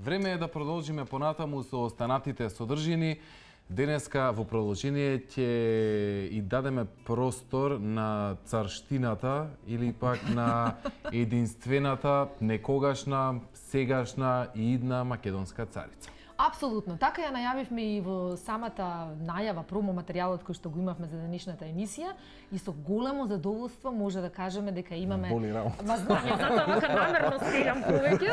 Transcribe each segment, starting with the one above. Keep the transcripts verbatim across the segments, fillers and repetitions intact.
Време е да продолжиме понатаму со останатите содржини. Денеска во продолжение ќе и дадеме простор на царштината или пак на единствената, некогашна, сегашна и идна македонска царица. Апсолутно. Така ја најавивме и во самата најава, промо материјалот кој што го имавме за денешната емисија и со големо задоволство може да кажеме дека имаме... Боли работа. Ма знам, ја затоа вака намерно стигам повеќе.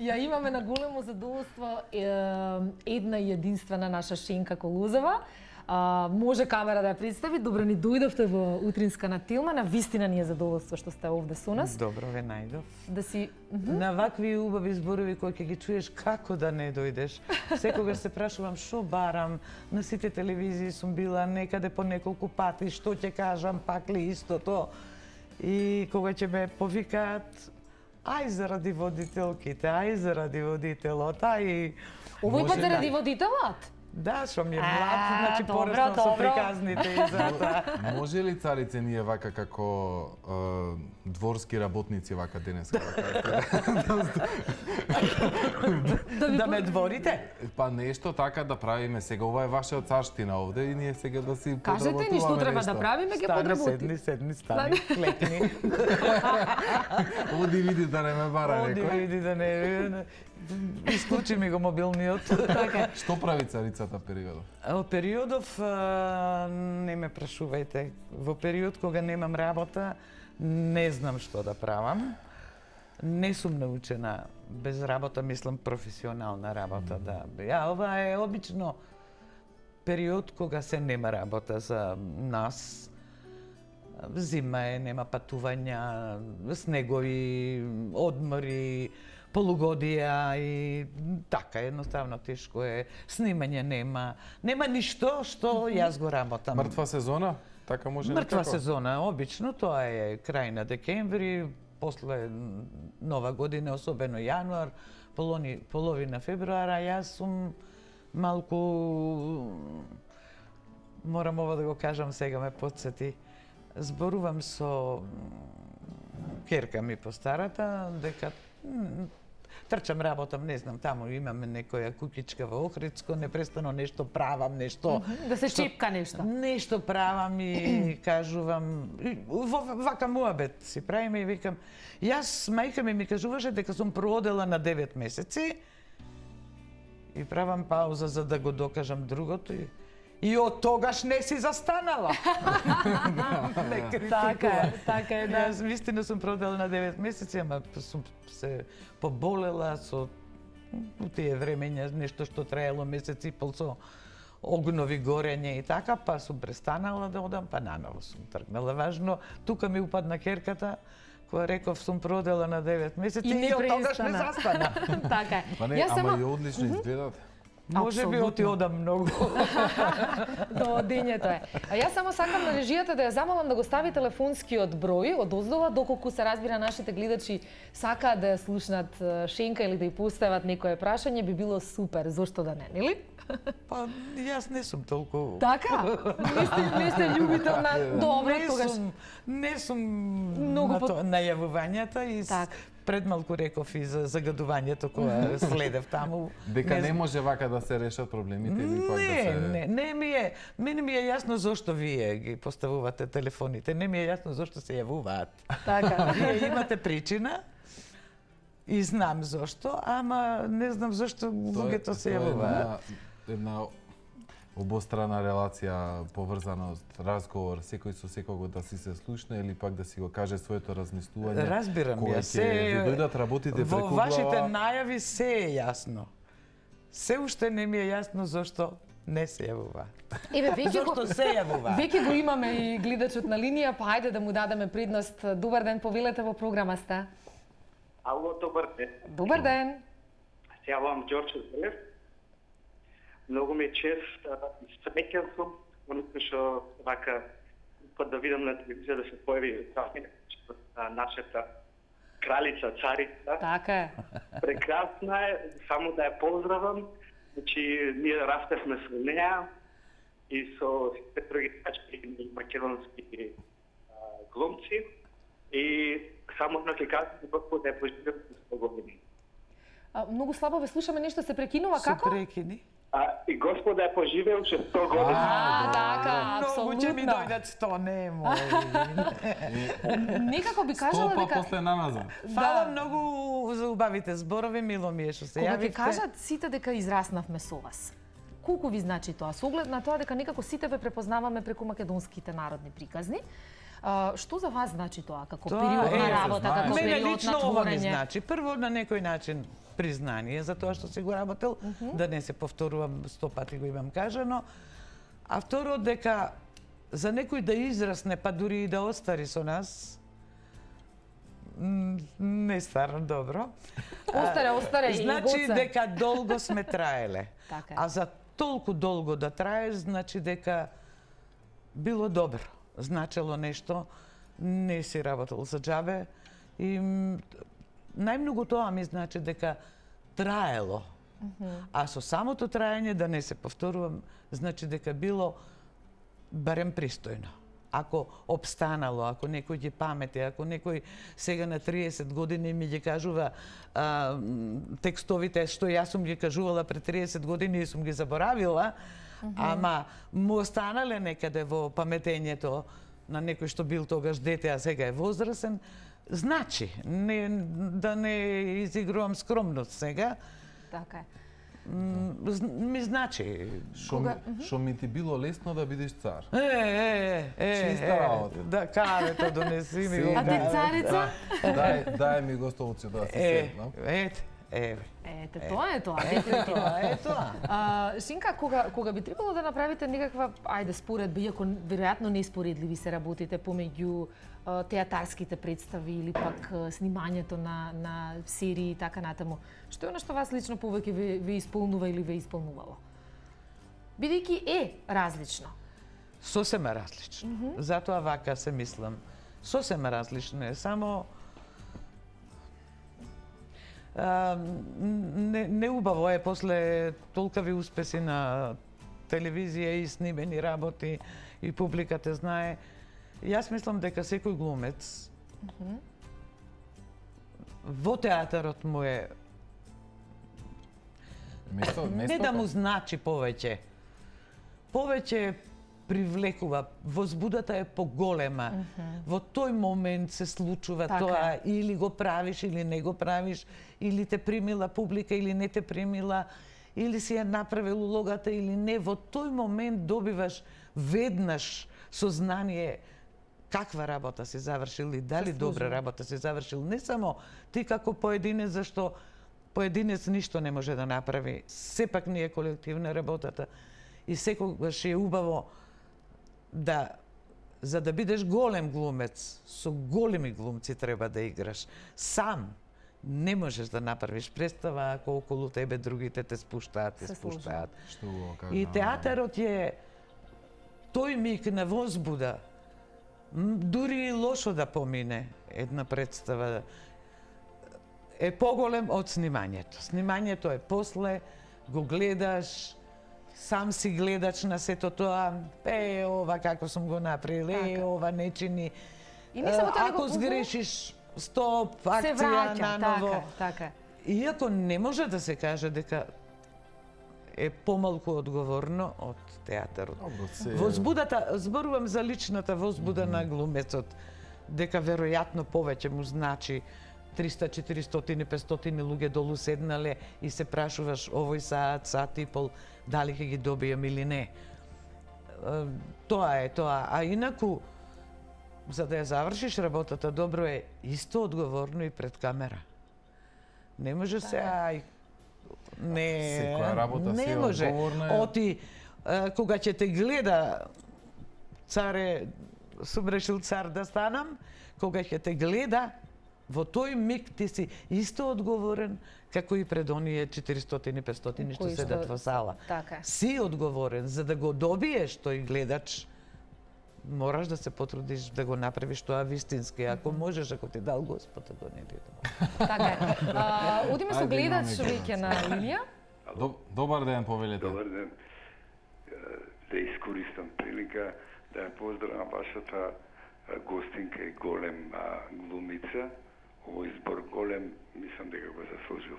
Ја имаме на големо задоволство една и единствена наша Шенка Колозова. А, може камера да ја представи. Добро ни дојдовте во утринска на Тилма. На вистина ни е задоволство што сте овде со нас. Добро ве најдов. Да си На вакви убави зборови кои ќе ги чуеш, како да не дојдеш. Секогаш се прашувам што барам. На сите телевизии сум била некаде по неколку пати, што ќе кажам, пак ли истото. И кога ќе ме повикаат, ај заради водителките, ај заради водителот, ај... Овој пат заради водителот? Да, што ми е млад, значи пореснам со приказните и затоа. Може ли, царице, ние вака како е, дворски работници вака денеска? Да, да ме дворите? Па нешто така да правиме сега. Ова е ваша царштина овде и ние сега да си подработуваме Кажете ни што треба да правиме, ќе подработи. Седни, седни, стани, клекни. Оди види да не ме бара некој. Оди види да не... Исклучи ми го мобилниот. Така. Што прави царицата периодов? Во периодов, не ме прашувајте, во период кога немам работа, не знам што да правам. Не сум научена без работа, мислам професионална работа да. Ја, ова е обично период кога се нема работа за нас. Зима е, нема патувања, снегови, одмори, полугодија и така, едноставно тешко е. Снимање нема. Нема ништо што јас го работам. Мртва сезона? Така може Мртва некако? сезона, обично, тоа е крај на декември, после нова година, особено јануар, полони, половина февруара, јас сум малку... Морам ова да го кажам, сега ме подсети. Зборувам со керка ми постарата, дека трчам, работам, не знам, таму имаме некоја кукичка во Охридско, непрестано нешто правам, нешто... Да се чепка нешто. Нешто правам и кажувам, во вака муабет си правиме и викам, јас, мајка ми ми кажуваше дека сум проодела на девет месеци и правам пауза за да го докажам другото и И од тогаш не си застанала. Не критикува. Така е, така е, да. Јас вистина сум продела на девет месеци, ама сум се поболела со у тие времења, нешто што траело месец и пол со огнови горење и така, па сум престанала да одам, па наново сум тргнала. Важно, тука ми упадна керката, која реков сум продела на девет месеци и, и од тогаш не застана. Така е. Па не, Јас ама само... и одлично изгледат. Може би оти одам многу. До дењето е. А јас само сакам на режијата да ја замолам да го стави телефонскиот број од оздола, доколку се разбира нашите гледачи сакаат да ја слушнат Шенка или да ја постават некое прашање, би било супер, зошто да не, нели? Па јас не сум толку. Така? Не сте, не сте љубител на добро не тогаш. Сум, не сум Многу на по... то, најавувањата и так. Пред малку реков и за загадувањето кога следев таму. Дека не, не може вака да се решат проблемите или пак не, да се... Не, не ми е, мене ми е јасно зошто вие ги поставувате телефоните, не ми е јасно зошто се јавуваат. Така. Вие имате причина и знам зошто, ама не знам зошто луѓето се јавуваат. Една, една обострана релација, поврзаност, разговор, секој со секого да си се слушне или пак да си го каже своето размислување. Разбирам ја, се ви дојдат работите преку глава. Во вашите најави се е јасно. Се уште не ми е јасно зошто не се јавува. Еве, веќе Зошто го, се јавува? Веќе го имаме и гледачот на линија, па ајде да му дадеме предност. Добар ден, повелете во програма сте. Ало, добар ден. Добар ден. Се јавам Ѓорче Зелев. Многу ми е чест и среќен сум, оној што вака пат да видам на телевизија да се појави нашата кралица, царица. Така е. Прекрасна е, само да ја поздравам. Значи, ние растевме со неа и со сите други тачки македонски глумци. И само едно ќе кажам, Господ да ја поживеам со сто години. А, многу слабо ве слушаме, нешто се прекинува, Со како? прекини. А, и Господа е поживееше сто години. А, така, Многу ќе ми апсолутно. дојдат сто, немој. Некако би кажала Стопа дека после намаза. Фала многу за убавите зборови, мило ми е што се кога ќе јавивте. кажат сите дека израснавме со вас, колку ви значи тоа? Со оглед на тоа дека некако сите ве препознаваме преку македонските народни приказни, а, што за вас значи тоа како Тоа период е, на се работа, знае. како Мене период лично на ова ми творење? значи. Прво, на некој начин признание за тоа што си го работел, да не се повторувам, сто пати го имам кажано. А второ, дека за некој да израсне, па дури и да остари со нас, м, не стварно добро. Остаре, остаре и Значи Гоце. дека долго сме траеле. Така е. А за толку долго да траеш, значи дека било добро. Значело нешто, не си работел за џабе и м, најмногу тоа ми значи дека траело. А со самото траење, да не се повторувам, значи дека било барем пристојно. Ако обстанало, ако некој ги памети, ако некој сега на триесет години ми ги кажува а, м, текстовите што јас сум ги кажувала пред триесет години и сум ги заборавила, ама му останале некаде во паметењето на некој што бил тогаш дете, а сега е возрасен, значи, не, да не изигрувам скромност сега, Така е. м, зн- ми значи. Што ми, што ми ти било лесно да бидеш цар. Е, е, е, Чиста е, работа. да кавето донеси ми го. А ти кавето. царица? Дај, дај ми го столци да се Е, седнам. ете, е, Ете, тоа е тоа, ето дефинитивно. тоа, е тоа. А, Шинка, кога, кога би требало да направите некаква, ајде, споредба, иако веројатно неспоредливи се работите помеѓу а, театарските представи или пак а, снимањето на, на серии и така натаму, што е оно што вас лично повеќе ве, ве исполнува или ве исполнувало? Бидејќи е различно. Сосема различно. Затоа вака се мислам. Сосема различно е, само а, не, не убаво е после толкави успеси на телевизија и снимени работи и публиката знае. Јас мислам дека секој глумец во театарот му е Место, место. не да му значи повеќе. Повеќе привлекува, возбудата е поголема. Mm -hmm. Во тој момент се случува Така. тоа, или го правиш, или не го правиш, или те примила публика, или не те примила, или си ја направил улогата, или не. Во тој момент добиваш веднаш сознание каква работа си завршил и дали добра работа си завршил. Не само ти како поединец, зашто поединец ништо не може да направи. Сепак не е колективна работата. И секогаш е убаво да, за да бидеш голем глумец, со големи глумци треба да играш. Сам не можеш да направиш представа ако околу тебе другите те спуштаат, те Се спуштаат. Што го кажа? И театарот е тој миг на возбуда. М, Дури и лошо да помине една представа е поголем од снимањето. Снимањето е после, го гледаш, сам си гледач на сето тоа, е, ова како сум го направил, е, Така. ова не чини. И не само тоа, Ако него- сгрешиш, стоп, Се акција враќа, наново. така, така. Иако не може да се каже дека е помалку одговорно од театарот. Добро, се... Возбудата, зборувам за личната возбуда mm -hmm. на глумецот, дека веројатно повеќе му значи триста, четиристотини, петстотини луѓе долу седнале и се прашуваш овој саат, саат и пол, дали ќе ги добијам или не. Е, Тоа е тоа. А инаку, за да ја завршиш работата добро е исто одговорно и пред камера. Не може се, ај, не, Секоја работа не си е може. одговорна е. Оти, е, кога ќе те гледа, царе, сум решил цар да станам, кога ќе те гледа, во тој миг ти си исто одговорен како и пред оние четиристотини, петстотини што Кои што- седат во сала. Така е. Си одговорен, за да го добиеш тој гледач, мораш да се потрудиш да го направиш тоа вистински. Ако можеш, ако ти дал Господ, го не ти дал. Така е. А, одиме со Ајде, гледач имаме веќе на линија. Доб- Добар ден, повелете. Добар ден. Е, Да искористам прилика да ја поздравам вашата е, гостинка и голем а, глумица. Овој избор голем, мислам дека го заслужила.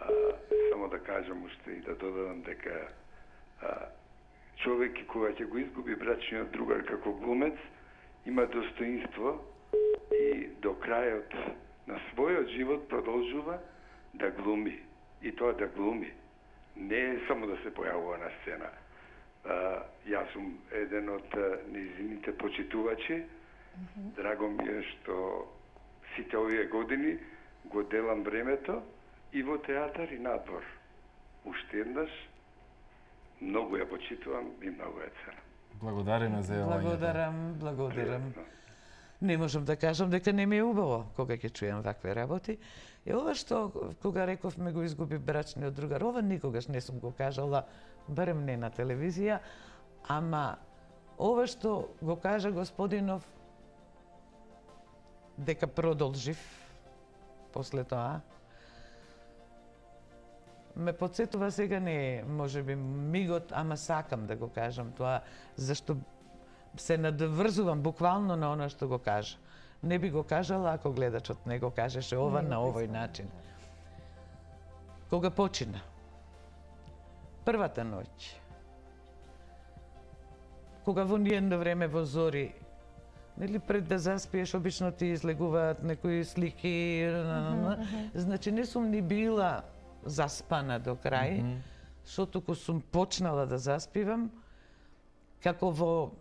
А, само да кажам уште и да додадам дека а, човек кога ќе го изгуби брачниот другар како глумец, има достоинство и до крајот на својот живот продолжува да глуми. И тоа да глуми. Не е само да се појавува на сцена. А, јас сум еден од нејзините почитувачи. Mm-hmm. Драго ми е што сите овие години го делам времето и во театар и надвор. Уште еднаш, многу ја почитувам и многу ја ценам. Благодариме за јавањето. Благодарам, благодарам. Не можам да кажам дека не ми е убаво кога ќе чујам вакви работи. И ова што, кога рековме го изгуби брачниот другар, ова никогаш не сум го кажала, барем не на телевизија, ама ова што го кажа господинов, дека продолжив после тоа, ме подсетува сега не можеби мигот, ама сакам да го кажам тоа, зашто се надврзувам буквално на она што го кажа. Не би го кажала ако гледачот не го кажеше ова на овој начин. Кога почина, првата ноќ, кога во ниедно време во зори, нели пред да заспиеш, обично ти излегуваат некои слики, значи не сум ни била заспана до крај, што туку сум почнала да заспивам, како во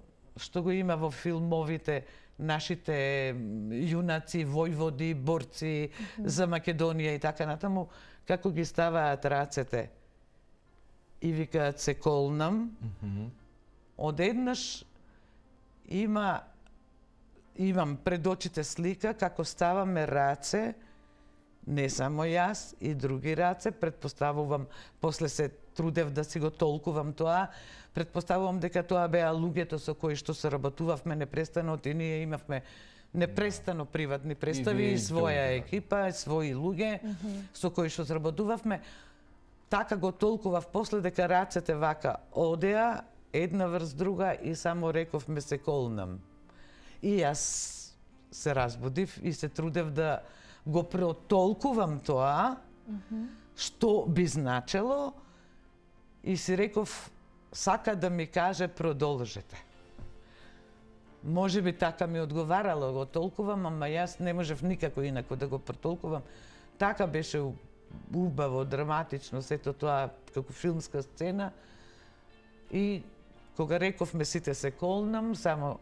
што го има во филмовите нашите јунаци, војводи, борци за Македонија и така натаму, како ги ставаат рацете и викаат се колнам, одеднаш има имам пред очите слика како ставаме раце, не само јас, и други раце, предпоставувам, после се трудев да си го толкувам тоа, предпоставувам дека тоа беа луѓето со кои што се работувавме непрестано, и ние имавме непрестано приватни представи, и своја екипа, своји луѓе mm -hmm. со кои што сработувавме. Така го толкував после дека рацете вака одеа, една врз друга и само рековме се колнам. И јас се разбудив и се трудев да го протолкувам тоа, mm -hmm. што би значело, и си реков, сака да ми каже продолжете. Може би така ми одговарало, го толкувам, ама јас не можев никако инако да го протолкувам. Така беше убаво, драматично, сето тоа како филмска сцена. И кога рековме сите се колнам, само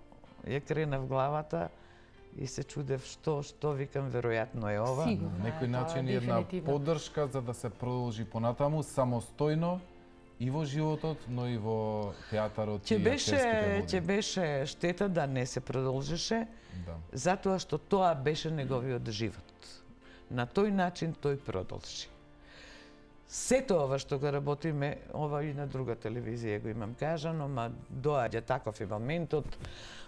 ја кренав главата и се чудев што, што викам, веројатно е ова. Сигурно, на некој начин е една поддршка за да се продолжи понатаму, самостојно, и во животот, но и во театарот ќе и беше, актерските води. ќе беше штета да не се продолжеше, да. Затоа што тоа беше неговиот живот. На тој начин тој продолжи. Сето ова што го работиме, ова и на друга телевизија го имам кажано, ма доаѓа таков и моментот,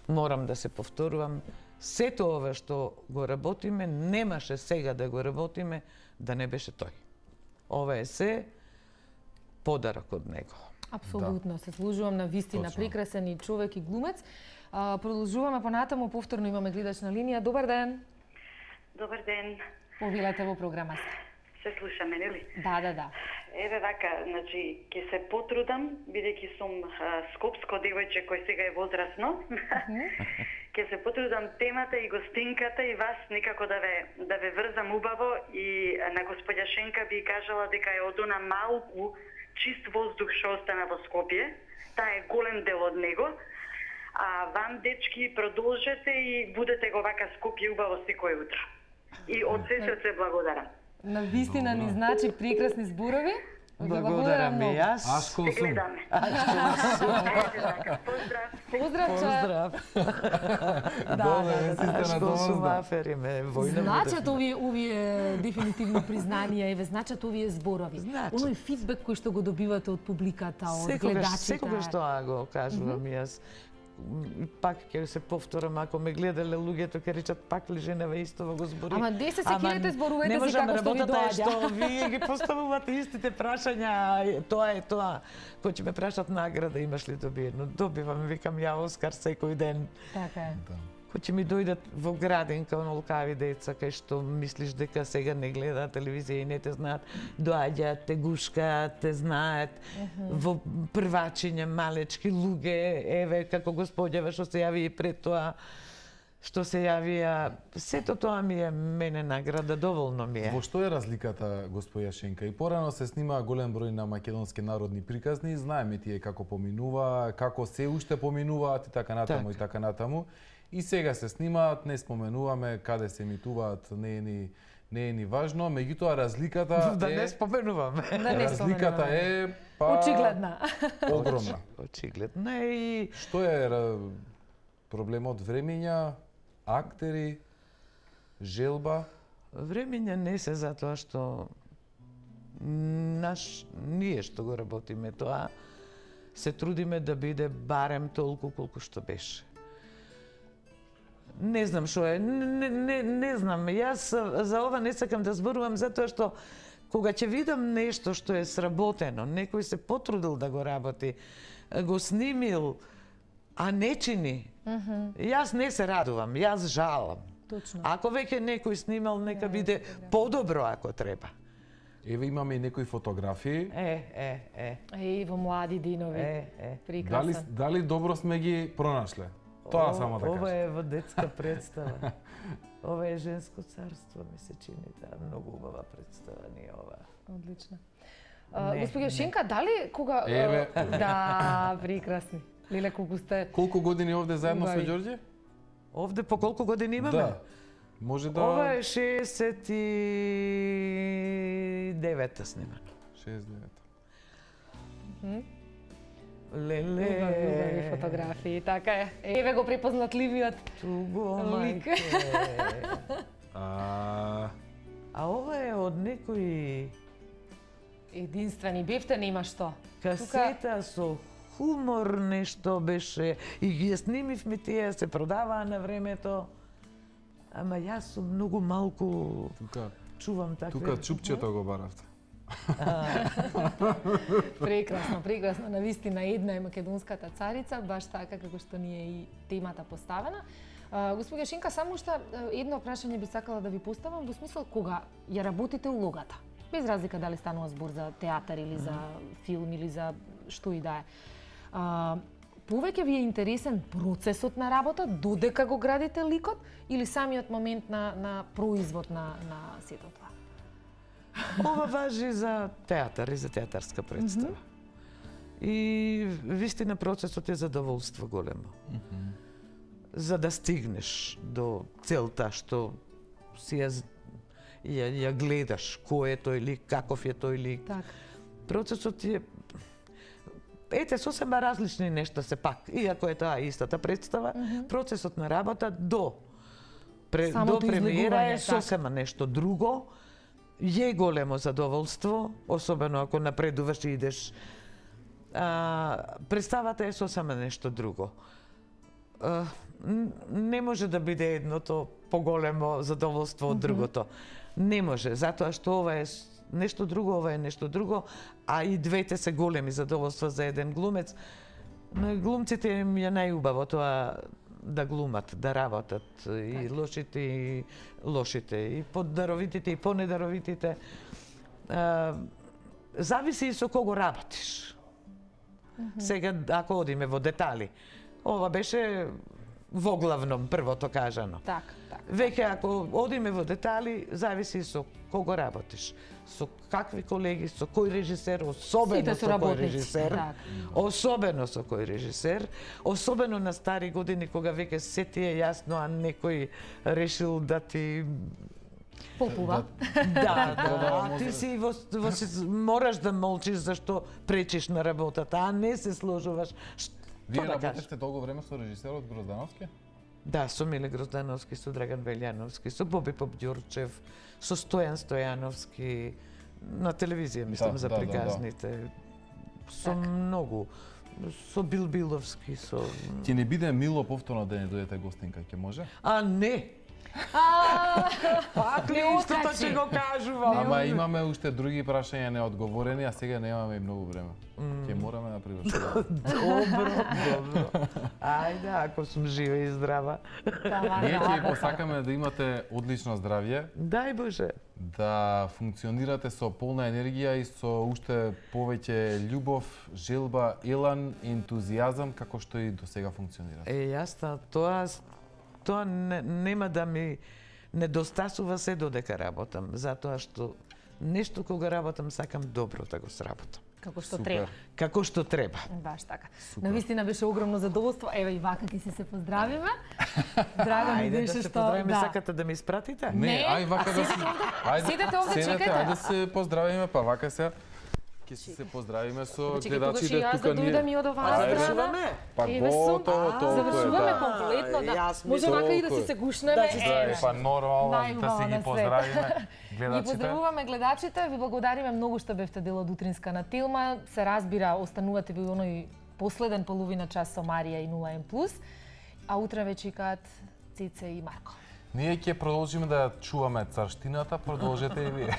морам да се повторувам, сето ова што го работиме, немаше сега да го работиме, да не беше тој. Ова е се подарок од него. Апсолутно, да. Се служувам на вистина Точно. прекрасен и човек и глумец. А, продолжуваме понатаму, повторно имаме гледач на линија. Добар ден. Добар ден. Повелете во програма. Се слушаме, нели? Да, да, да. Еве вака, значи, ќе се потрудам, бидејќи сум а, скопско девојче кој сега е возрасно. Ќе се потрудам темата и гостинката и вас некако да ве да ве врзам убаво, и на господја Шенка би кажала дека е од она малку чист воздух што остана во Скопје. Таа е голем дел од него. А вам, дечки, продолжете и будете го вака Скопје убаво секој утро. И од се срце благодарам. На вистина ни значи прекрасни зборови. Благодарам и јас. Ашкол Се сум. гледаме. Поздрав. Поздрав, Поздрав. Да, Добре, да, да, сите на Ашкол довозда. Шумафер име војна. Значат овие овие дефинитивно признанија, еве значат овие зборови. Значат. Оној фидбек кој што го добивате од публиката, од Секогаш, гледачите. секогаш тоа го кажувам јас. Пак ќе се повторам, ако ме гледале луѓето ќе речат пак ли женева истово го збори. Ама де се секирате зборувате си како што ви работата е доаѓа. што вие ги поставувате истите прашања, тоа е тоа. Кој ќе ме прашат награда, имаш ли добиено? Добивам, викам ја Оскар секој ден. Така е. Да. кои ќе ми дојдат во градинка, онолкави деца, кај што мислиш дека сега не гледаат телевизија и не те знаат, доаѓаат, те гушкаат, те знаат, uh -huh. во првачиња малечки луѓе, еве, како господјава што се јави и пред тоа, што се јавија, сето тоа ми е мене награда, доволно ми е. Во што е разликата, господја Шенка? И порано се снима голем број на македонски народни приказни, знаеме тие како поминува, како се уште поминуваат и така натаму так. и така натаму. И сега се снимаат, не споменуваме каде се емитуваат, не е ни не е ни важно, меѓутоа разликата да е не споменуваме. Да не разликата е па очигледна. Огромна. Очигледна и што е проблемот времења, актери, желба? Времења не се затоа што наш ние што го работиме тоа се трудиме да биде барем толку колку што беше. Не знам што е, не, не, не знам. Јас за ова не сакам да зборувам затоа што кога ќе видам нешто што е сработено, некој се потрудил да го работи, го снимил, а не чини, mm -hmm. јас не се радувам, јас жалам. Точно. Ако веќе некој снимал, нека yeah, биде yeah. подобро ако треба. Еве имаме и некои фотографии. Е, е, е. Е, во млади динови. Е, е. Прекрасен. Дали, дали добро сме ги пронашле? Тоа само да кажам. Ова е во детска представа. Ова е женско царство, ми се чини, таа многу убава представа ни ова. Одлично. Господја Шенка, дали кога Еве. Да, прекрасни. Леле, колку сте Колку години овде заедно со Ѓорѓе? Овде по колку години имаме? Да. Може да Ова е шеесет и девета снимано. шеесет и девета. Мм. Леле. Убави фотографии, така е. Еве го препознатливиот Туго, лик. мајке. А А ова е од некои единствени бевте, нема што. касета со хумор, нешто беше и ги снимивме тие, се продаваа на времето. Ама јас сум многу малку тука чувам такви. тука чупчето го баравте. Прекрасно, прекрасно. Навистина една е македонската царица, баш така како што ни е и темата поставена. Господја Шенка, само што едно прашање би сакала да ви поставам, во смисла кога ја работите улогата. Без разлика дали станува збор за театар или за филм или за што и да е. А, повеќе ви е интересен процесот на работа, додека го градите ликот, или самиот момент на, на производ на, на сето тоа? Ова важи за театар и за театарска представа. Mm -hmm. И вистина процесот е задоволство големо. Mm -hmm. За да стигнеш до целта што си ја, ја, ја гледаш, кој е тој лик, каков е тој лик. Так. Процесот е ете сосема различни нешта се пак, иако е тоа истата представа, mm -hmm. процесот на работа до пре, до премиера е сосема нешто друго. Е големо задоволство, особено ако напредуваш и идеш. А, представата е сосема нешто друго. А, не може да биде едното поголемо задоволство од другото. Не може, затоа што ова е нешто друго, ова е нешто друго, а и двете се големи задоволства за еден глумец. На глумците им е најубаво тоа да глумат, да работат, и лошите и лошите, и поддаровитите и понедаровитите. А, зависи и со кого работиш. Mm -hmm. Сега, ако одиме во детали, ова беше во главном првото кажано. Так, так. Веќе ако одиме во детали, зависи и со кого работиш. Со какви колеги, со кој режисер, особено со кој режисер, так. особено со кој режисер, особено на стари години кога веќе се ти е јасно, а некој решил да ти попува. Да, да, а ти си во, во, мораш да молчиш зашто пречиш на работата, а не се сложуваш. Вие да работевте долго време со режисерот Гроздановски? Да, со Миле Гроздановски, со Драган Велјановски, со Боби Попѓорчев, со Стојан Стојановски, на телевизија, мислам, да, за приказните. Да, да. Со так. Многу. Со Билбиловски, со... Ќе не биде мило повторно да не дојдете гостинка, ќе може? А, не! Пак ли истото ќе го кажувам? Ама имаме уште други прашања неодговорени, а сега немаме и многу време. Ќе мораме да привршуваме. Добро, добро. Ајде, ако сум жива и здрава. Ние ќе посакаме да имате одлично здравје. Дај Боже. Да функционирате со полна енергија и со уште повеќе љубов, желба, елан, ентузијазам, како што и до сега функционирате. Е, јасно, тоа тоа не, нема да ми недостасува се додека работам, затоа што нешто кога работам сакам добро да го сработам. Како што Супер. треба. Како што треба. Баш така. Навистина беше огромно задоволство. Еве и вака ќе се се поздравиме. Драго ми Ајде да беше се што поздравиме, сакате да ме испратите? Не, Не, ај вака а да седете овде? Седете овде, седете, чекајте. ајде се поздравиме, па вака се ќе се се поздравиме со Чекај, тогаш и гледачите јас да тука дојдам и од оваа Ајде. страна. Па Еве сум. готово, толку е, Завршуваме да. комплетно, Ај, да. јас Може мислам- вака и да толку си е. се гушнеме. Да, ќе Да, Еве. е, па нормално да Најубаво си на ги свет. поздравиме Ги гледачите. поздравуваме гледачите, ви благодариме многу што бевте дел од утринска на Телма. Се разбира, останувате ви оној последен половина час со Марија и нула М плюс, а утре ве чекаат Цеце и Марко. Ние ќе продолжиме да чуваме царштината, продолжете и вие.